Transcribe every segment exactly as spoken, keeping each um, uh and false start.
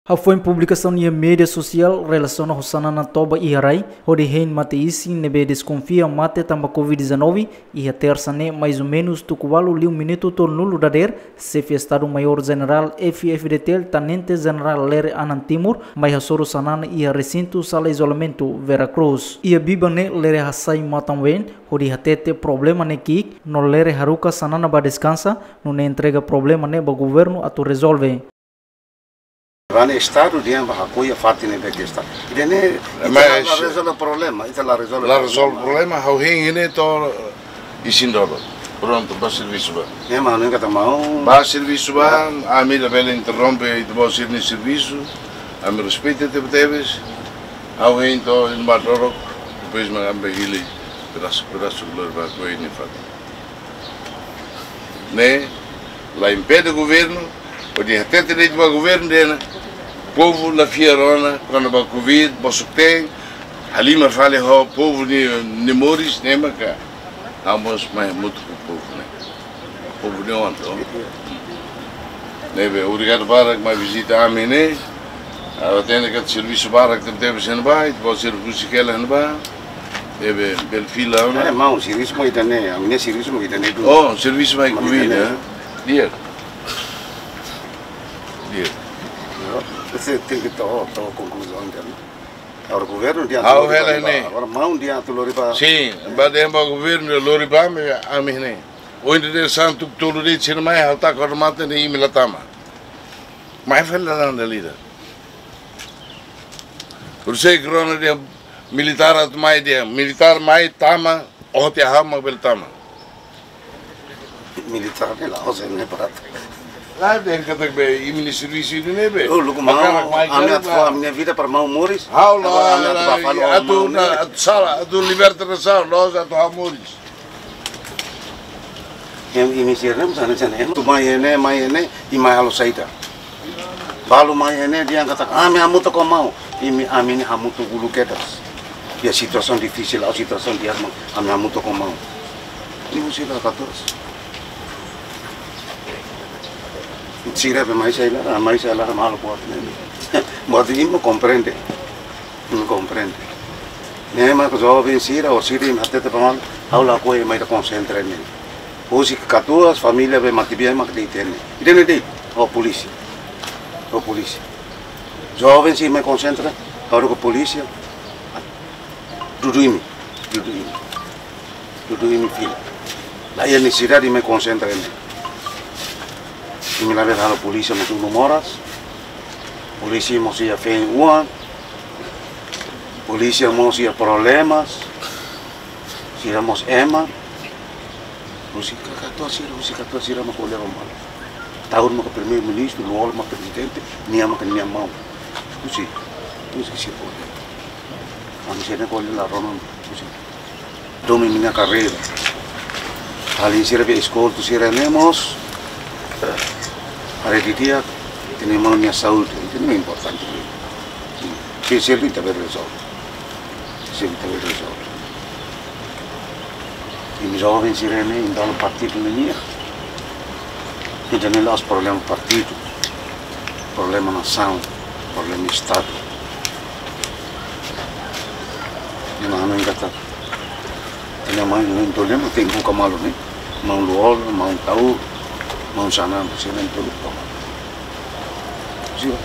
Hafoin publikasaun iha média sosiál relasiona ho sanana toba iha rai, hodi hein mate-isin ne'ebé deskonfia mate tanba covid dezanove, iha tersa ne'e mais ou menus tuku ualu liu minutu tolunulu dadeer, Xefe Estadu Maiór Jenerál F-FDTL Tenente Jenerál Lere Anan Timur, mai hasoru sanana iha resintu sala izolamentu Vera Cruz. Iha biban ne'e Lere hasai matan-ween, hodi hatete problema ne'e ki'ik, no Lere haruka sanana ba deskansa, nune'e entrega problema ne'e ba governu atu rezolve. Ba ne'e Estadu dehan ba hakoi iha fatin ne'ebé ke Estadu. Ida-ne'e, ita la, mas la rezolve problema, ita la rezolve problema. La rezolve problema, ha'u hein ne'e to'o isin dodok. Prontu, ba servisu ba. Ne'e mak ha'u hanoin katak maun. Ba servisu ba, ami labele interrompe ita-boot sira-nia servisu. Ami respeita tebetebes. Ha'u hein to'o isin ba dodok, depois mak ami hili pedasu-pedasu glória ba hakoi nia fatin. Ne'e la impede governu, hodi hatete de'it ba governu dehan povu la fiar ona, kona-ba covid, bosok-teen, halimar fali ho povu nia, nia moris, ne'e maka ha'u mós mai hamutuk ho povu ne'e. Povu nia oan, to. Ne'ebé, obrigadu barak mai vizita ami ne'e. Ha'u hatene katak servisu barak tebetebes iha ne'ebá, ita-boot sira husik hela iha ne'ebá. Ne'ebé, bele fila ona. Eh, maun, servisu mak ida-ne'e, ami-nia servisu mak ida-ne'e duni. Oh, servisu mai mak covid, ida-ne'e. Eh? Di'ak. Di'ak. Yo, ese tenke to'o, to'o konkluzaun de'it. Agora governu dehan atu lori ba, hela ne'e. Agora maun dehan atu lori ba. Sin, ba dehan ba governu lori ba, ami, ami ne'e. Ohin dadeer-saan tuku tolu de'it sira mai, ha'u taka odamatan ne'e imi la tama. Mai fali laran dala ida. Por isso que rona dehan militár atu mai dehan, militár mai tama, oho tiha ha'u mak bele tama. Militár ne'e la'ós ne'e barata. La dehan katak be, imi-nia servisu ida-ne'e be. Oh, lukman, hakarak mai ami atu fó ami-nia vida para maun moris. Ha'u la, agora ami atu la, ba fali atu maun na, ne'e. Atu sala, atu liberta nasaun, la'ós atu ha'u moris. Em, imi sira ne'e, misalnya, misalnya, em, atu mai iha ne'e, mai iha ne'e, i mai halo saida. Balu mai iha ne'e dehan katak, ami hamutuk ho maun. Imi, ami ne'e hamutuk uluk kedas. Iha situasaun difisil, ou situasaun di'ak mak, ami hamutuk ho maun. Imi sira katuas. Sira be mai sai laran, mai sai laran halo buat ne'e. Buat imi komprende. Imi komprende. Ne'e mak joven sira, ou sira imi hatete ba maun, ha'u lakohi mai ita konsentra ne'e. Husik katuas, família be matebian mak de'it iha ne'e. Ida-ne'e de'it, ho polísia. Ho polísia. Joven sira mai konsentra, ha'u haruka polísia. Dudu imi, dudu imi. Dudu imi fila. La iha nesesidade mai konsentra ne'e. Imi labele halo polísia mós unu moras. Polísia mós iha feen-oan. Polísia mós iha problemas. Sira mós ema. Husik katuas sira, husik katuas sira mak ko'alia ba malu. Taur maka primeiru-ministru, Lú-Olo mak prezidente, nia maka nia maun. Husik, husik sira ko'alia. Ami sira ko'alia la rona, husik. Domin nia karreira. Alin sira be eskoltu sira ne'e mós. Haree didi'ak, ita-nia maun nia saúde, ida-ne'e importante. Sira, sira ita bele rezolve. Sira ita bele rezolve. Imi joven sira ne'e, imi dala partidu ne'e nian. Ida-ne'e la'ós problema partidu. Problema nasaun, problema Estadu. Ema hanoin katak. Ita-nia maun ne'e, entaun ema tenke buka malu ne'e. Maun Lú-Olo, maun Taur, maun Xanana, sira ne'e tenke buka malu. Sira.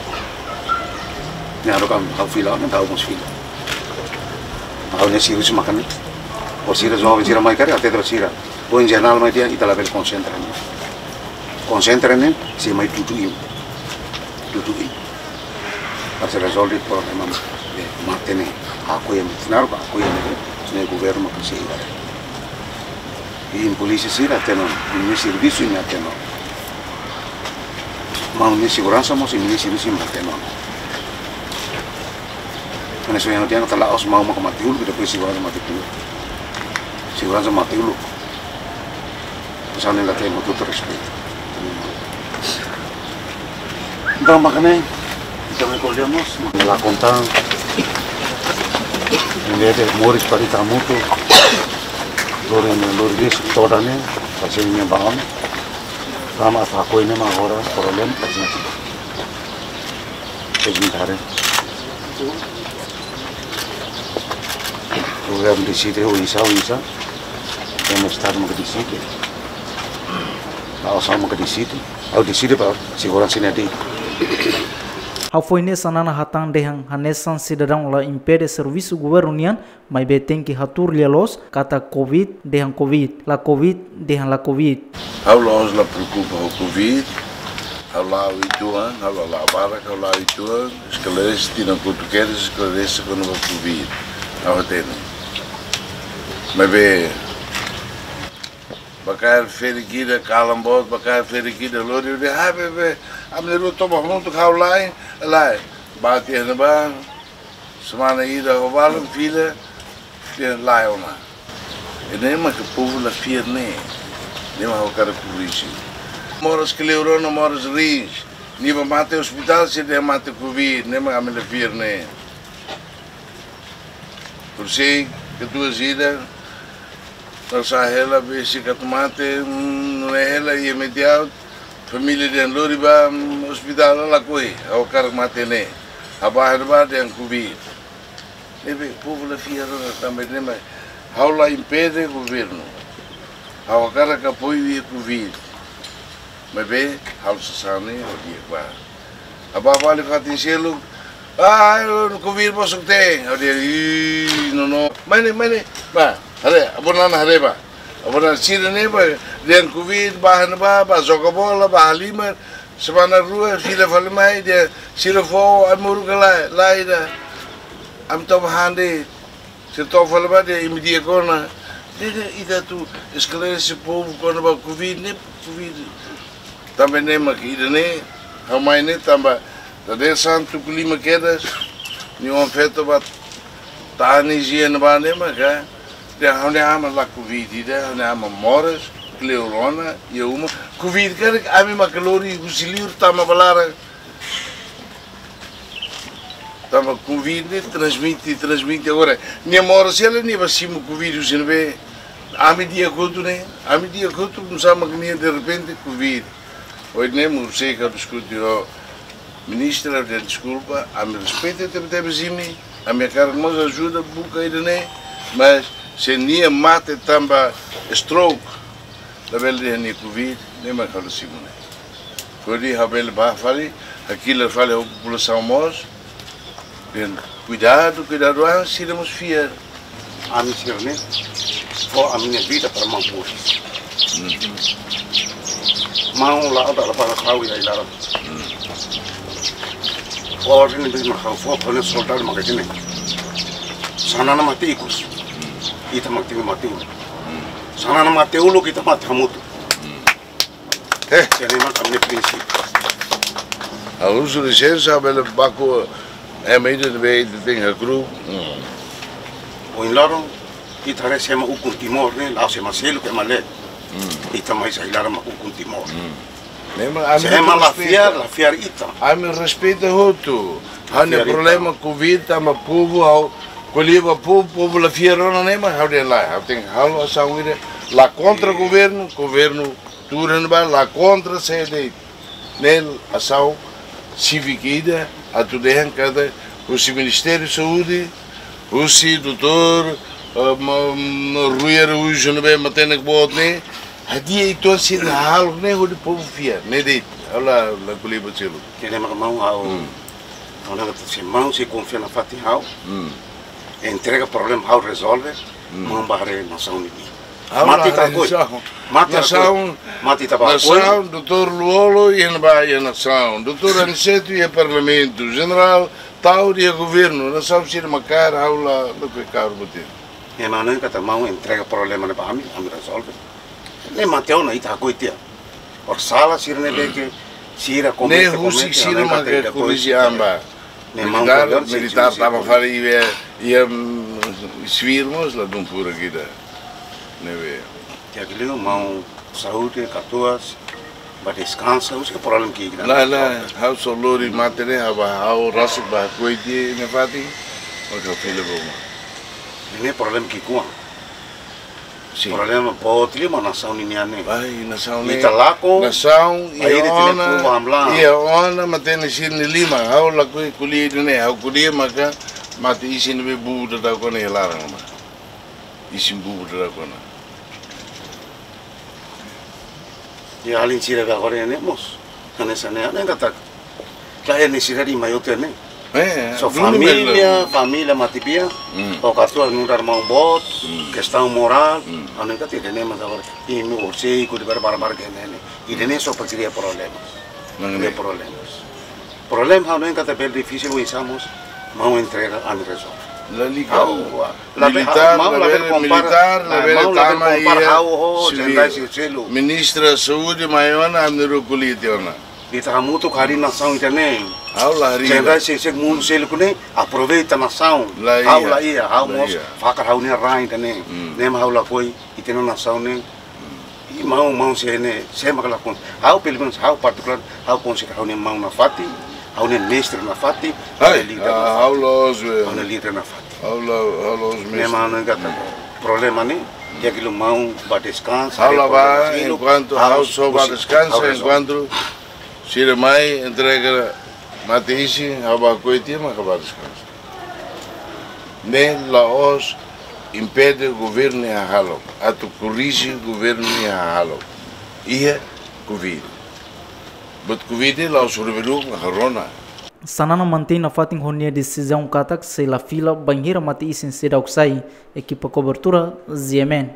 Ne'e haruka ha'u fila, ne'e ha'u mós fila. Ha'u-nia servisu maka ne'e. Ou sira joven sira mai karik, hatete ba sira. Ou em geral mai dehan ita labele konsentra ne'e. Konsentra ne'e, sei mai dudu imi. Dudu imi. Para sei rezolve problema, eh, mate ne'e. Hakoi ami, ne'e haruka hakoi ami, ne'e governu maka sei iha. I polísia sira hatene ona, imi-nia servisu imi hatene ona. Maun nia seguransa mós imi-nia servisu imi hatene ona. Hanesan ohin ha'u dehan katak la'ós maun maka mate uluk, depois seguransa mate uluk. Seguransa mate uluk. Pesan ne'e la temo tutu respeitu. Entaun, mak ne'e, entaun, ami ko'alia mós, la kontan. Ne'ebé moris para ita hamutuk. Lori ne'e, lori besik todan ne'e, pasti ne'e bangun. Rama atu hakoi ne'e mak agora, problema, pasti ne'e. Sementara. Governu deside, oinsá, oinsá. Ema Estadu maka deside. Ha'u sá maka deside. Ha'u deside ba seguransa nia de'it. Ha'u foin ne'e Xanana hatán dehan hanesan sidadaun la impede servisu governu nian, maibé tenke hatuur lia loos katak Covid dehan Covid, la Covid dehan la Covid. Ha'u la'ós la preokupa ho Covid, ha'u la'o uitoan, ha'u la, la barak, ha'u la'o uitoan, esklarese tinan kotuk kedas, esklarese kona-ba Covid. Ha'u hatene. Maibé, ba kaer ferik ida, kalan boot, ba kaer ferik ida, lori, lori, ha, be, be, ami na'in-rua toba hamutuk, ha'u la'en, la'en. Ba tiha ne'ebá, semana ida ho balun fila, dehan la'o ona. Ne'e mak povu la fiar ne'e. Ne'e mak ha'u hakarak korrije. Moras kleur ona, moras riin. Nia bá mate ospitál, sira dehan mate Covid, ne'e mak ami la fiar ne'e. Por sei, katuas ida, la sá hela, besik atu mate, mm, nune'e hela, iha imediatu, família dehan lori ba, mm, ospitál, lakohi, ha'u hakarak mate ne'e. Ha'u bá, ha'u bá dehan Covid. Ne'ebé, povu la fiar ona tanba ne'e mak ha'u la impede governu. Ha'u hakarak apoiu iha Covid. Maibé, halo sasán ne'e, ha'u di'ak ba. Ha'u bá fali fatin seluk, ah, Covid bosok-teen. Ha'u dehan, ih, no, no. Mai ne'e, mai ne'e. Bá, haree, avó Nana haree bá. Avó Nana sira ne'e bá, dehan Covid, bá han bá, bá joga bola, bá halimar. Semana rua, fila fali mai, dehan, sira fó, ai moru ka lae, lae ida. Ami toba han de'it. Sira toba fali ba dehan imi di'ak ona. Dehan ita atu esklarese povu kona-ba Covid ne'e, Covid. Tanba ne'e mak ida-ne'e, ha'u mai ne'e tanba, dadeer-saan tuku lima kedas, nia oan-feto bá tani jia ne'ebá ne'e maka, dehan ha'u-nia aman la Covid ida, ha'u-nia aman moras, kleur ona, iha uma, Covid karik ami maka lori husi liur tama ba laran. Tanba Covid ne'e transmite, transmite. Agora, nia moras hela, nia bá simu Covid husi ne'ebé. Ami di'ak hotu ne'e, ami di'ak hotu, nusá mak nia derrepente Covid. Ohin ne'e, mós sei ka diskute ho ministra, dehan deskulpa, ami respeita tebe-tebes imi, ami hakarak mós ajuda buka ida-ne'e, mas se nia mate tanba stroke, labele dehan nia Covid, ne'e mak halo simu ne'e. Hodi ha'u bele bá fali, hakilar fali ho populasaun mós. Dehan kuidadu, kuidadu, ah, sira mós fiar. Ami sira ne'e, fó ami-nia vida para maun moris. Hmm. Maun la'o dala barak ha'u iha ai-laran. Hmm. Orden ne'ebé mak ha'u fó, fó ne'e soldadu mak hatene. Xanana mate ikus. Hmm. Ita mak tenke mate uluk. Hmm. Xanana mate uluk, ita mate hamutuk. Hmm. Eh. Ida-ne'e mak ami-nia prinsípiu. Ha'u husu lisensa, bele baku, eh, ema ida ne'ebé ita tenke hakru'uk. Hmm. Ohin loron, ita haree se ema ukun Timor ne'e, la'ós ema seluk, ema leet. Hmm. Ita mai sai laran mak ukun Timor. Hmm. Ne'e mak ami, se ema la fiar, respeita, la fiar ita. Ami respeita hotu. La fiar ita. Ha'u-nia problema Covid, tanba povu, ha'u ko'alia ba povu, povu la fiar ona, ne'e mak ha'u dehan lae. Ha'u tenke halo asaun ida, la kontra governu, governu tuur iha ne'ebá, la kontra sé de'it. Ne'e asaun sívika ida, atu dehan katak husi Ministériu Saúde, husi doutór, eh, ma-, ma-, Rui Araújo ne'ebé matenek boot ne'e, hadi'a uitoan sira hahalok ne'e hodi povu fiar, ne'e de'it, ha'u la, la ko'alia ba seluk. Ida-ne'e mak maun ha'u, hmm, ha'u hakarak dehan se maun sei konfia nafatin ha'u. Hmm. Entrega problema ha'u rezolve, hmm, maun bá haree nasaun ida. Ha'u la haree nasaun. Mate ita hakoi. Mate ita hakoi. Nasaun, mate ita bá hakoi. Nasaun, doutór Lú-Olo iha ne'ebá iha nasaun. Doutór Aniceto iha parlamentu. Jenerál Taur iha governu. Nasaun sira mak kaer, ha'u la, la ko'alia kaer buat ida. Ema ne'e katak maun entrega problema ne'e ba ami, ami rezolve. Ne'e mate ona ita hakoi tiha. Orsala sira ne'ebé ke sira komete, ne'e husi komete, sira mak ita depois korrije an ba. Ne'e maun militár, ko'alia, militár sin, sin, tama fali iha, iha, mm, sivil mós la dún furak ida. Ne'ebé. Tiha liu maun saúde, katuas, bá deskansa, husi problema ki'ik. La, la, ha'u só lori mate ne'e, ha'u bá, ha'u rasik bá hakoi tiha iha fatin, maka fila ba uma. Ne'e problema ki'ik-oan. Sin. Problema boot liu mak nasaun ninian ne'e. Ai, nasaun ne'e. Ita lakon, nasaun, ai, iha ita-nia ona, povu hamlaha. Iha ona, matenek sira-nia liman. Ha'u lakohi ko'alia ida-ne'e, ha'u ko'alia maka mate-isin ne'ebé bubu daudauk ona iha laran mak. Isin bubu daudauk ona. Iha alin sira be agora ne'e mós. Hanesan ne'e, ha'u hanoin katak la iha nesesidade ida maior ne'e. Eh, so duni família, bela. Família matebian, hmm, o kartua nu'udar maun boot, hmm, kestaun morál, hmm, ha'u hanoin katak ida-ne'e mak agora. Imi orsei ku di barbar ke ne'e. Ida-ne'e só para kria problemas. Nang kria ne'e. Problemas. Problema ha'u hanoin katak bele difisil oinsá mós maun entrega ami rezolve. Lalika. Ha'u, ah, labele, militár, maun labele, labele kompara, militár, ah, labele maun labele tama kompara iha ha'u ho sivíl. Jenerál sira seluk. Ministra Saúde mai ona, ami rua ko'alia tiha ona. Ita hamutuk harii nasaun ida-ne'e. Ha'u la harii. Jenerál sira seluk mundu seluk ne'e aproveita nasaun. La iha. Ha'u la iha, ha'u mós fakar ha'u-nia rai ida-ne'e. Hmm. Ne'e mak ha'u lakohi, ita-nia nasaun ne'e. Hmm. I maun, maun sira ne'e, sé mak la kon-, ha'u pelumenus, ha'u partikulár, ha'u konsidera ha'u-nia maun nafatin, ha'u-nia mestre nafatin, ai, ha'u-nia líder, ah, nafatin. Ha'u la'ós, eh, ha'u-nia líder nafatin. Ha'u la, ha'u la'ós mestre. Ne'e mak ha'u hanoin katak. Hmm. Problema ne'e, di'ak liu maun bá deskansa, ha'u la bá, problema ne'e, enkuantu ha'u, ha'u só bá deskansa, ha'u rezolve. Enkuantu sira mai entrega mate-isin, ha'u bá ko'alia tiha mak bá deskansa. Ne'e la'ós impede governu nia hahalok, atu korrije governu nia hahalok. Iha Covid. Buat Covid la'ós rubelu mak rona. Xanana mantein nafatin ho nia desizaun katak sei la fila bainhira mate-isin seidauk sai, ekipa kobertura, G M N.